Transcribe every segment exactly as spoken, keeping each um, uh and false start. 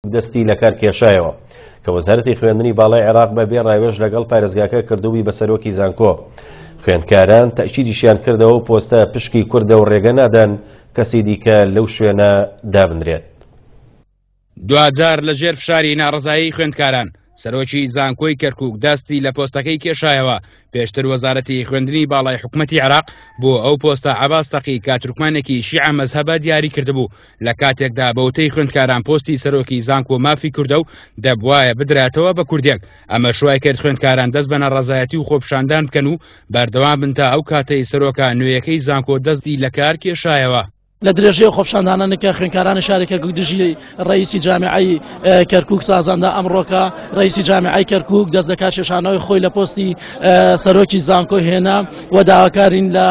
دەستی لەکار کێشایەوە کە وەزارەتی خوێندنی باڵای عێراق بە بێ ڕاوێژ لەگەڵ پارێزگاکە کردووی بە سەرۆکی زانکۆ. خوێندکاران تەئکیدیشیان کردەوە و پۆستە پشکی کوردە و ڕێگە نادەن کەسی دیکە لەو شوێنە دابنرێت. دواجار لەژێر فشاری ناڕەزایی خوێندکاران سەرۆکی زانکۆی کەرکوک دەستی لە پۆستەکەی کێشایەوە. پێشتر وەزارەتی خوێندنی باڵای حکومەتی عێراق بۆ ئەو پۆستە عەباس تەقی کە تورکمانێکی شیعە مەزهەبە دیاری کردبوو، لە کاتێکدا بەوتەی خوێندکاران پۆستی سەرۆکی زانکۆ مافی کوردە و دەبوایە بدراتەوە بە کوردێک. ئەمەش وای کرد خوێندکاران دەست بە ناڕەزایەتی و خۆپیشاندان بکەن و بەردەوام بن تا ئەو کاتەی سەرۆکە نوێیەکەی زانکۆ دەستی لە کار کێشایەوە. لە درێژەی خۆپیشاندانە کە خوێندکارانی شاری کەرکوک دژی ڕئیسی جامیعەی کەرکوک سازاندا، ئەمڕۆکە ڕئیسی جامیعەی کەرکوک دەست لە کارکێشانەوەی خۆی لە پۆستی سەرۆکی زانکۆ هێنا و داواکارین لە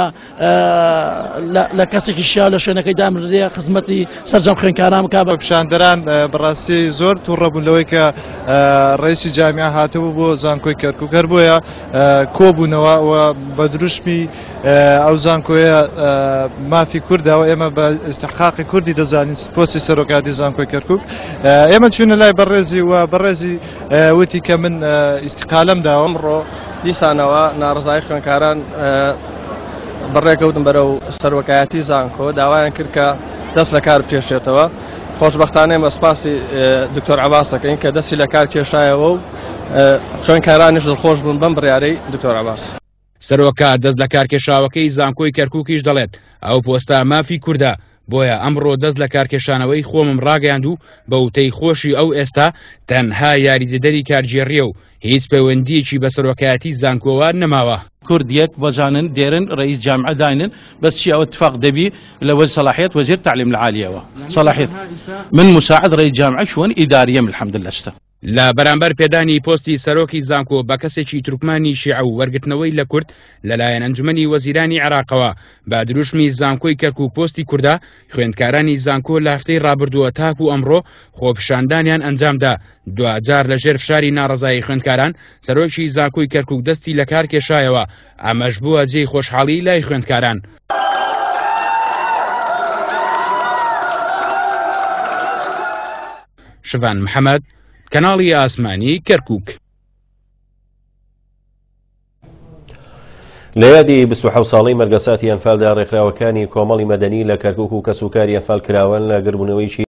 لە کەسێکی شیاو لە شوێنەکەی دامرێ خزمەتی سەرجەم خوێندکاران بکات. خۆپیشاندەران بەڕاستی زۆر تووڕە بوون لەوەی کە ڕئیسی جامیعە هاتبوو بۆ زانکۆی کەرکوک، هەر بۆیە کۆبوونەوە و بە دروشمی ئەو زانکۆیە مافی کوردەوە ئێمە بە ئیستحقاقی کوردی دەزانین پۆستی سەرۆکاتی زانکۆی کەرکوک. ئێمە چوونە لای بەڕێزی و بەڕێزی وتی کە من ئیستیقالەم داوە. ئەمڕۆ دیسانەوە ناڕەزایی خوێندکاران بەڕێکەوتن بەرەو سەرۆکایەتی زانکۆ، داوایان کرد کە دەست لە کار بکێشێتەوە. خۆشبەختانە ئێمە سپاسی دکتۆر عەباس دەکەین کە دەستی لە کار کێشایەوە و خوێندکارانیش دڵخۆش بوون بەم بڕیارەی دکتۆر عەباس. سەرۆکە دەست لە کارکێشاوەکەی زانکۆی کەرکوکیش دەڵێت ئەو پۆستە مافی کوردە، بۆیە ئەمڕۆ دەست لە کارکێشانەوەی خۆمم ڕاگەیاند و بە وتەی خۆشی ئەو ئێستا تەنها یاریدەدەری کارگێڕیە و هیچ پەیوەندیەکی بە سەرۆکایەتی زانکۆوە نەماوە. كرد يك وزانن ديرن رئيس جامعة داينن بس شيء أو اتفاق دبي لو صلاحية وزير التعليم العالي صلاحية من مساعد رئيس جامعة شون إدارية الحمد لله. است لە بەرامبەر پێدانی پۆستی سەرۆکی زانکۆ بە کەسێکی تورکمانی شیعە و وەرگرتنەوەی لە کورد لەلایەن ئەنجومەنی وەزیرانی عێراقەوە بە دروشمی زانکۆی کەرکوک پۆستی کوردە، خوێندکارانی زانکۆ لە هەفتەی ڕابردووە تاکو ئەمڕۆ خۆپیشاندانیان ئەنجامدا. دواجار لەژێر فشاری ناڕەزایی خوێندکاران سەرۆکی زانکۆی کەرکوک دەستی لە کار کێشایەوە، ئەمەش بووە جێی خۆشحاڵی لای خوێندکاران. شڤان محەمەد، کەناڵی ئاسمانی کەرکوک. لە یادی بیست و حەوت ساڵەی مەرگەساتی ئەنفالدا ڕێکخراوەکانی کۆمەڵی مەدەنی لە کەرکوک و کەسوکاری ئەنفال کراوەن لە گربوونەوەیکی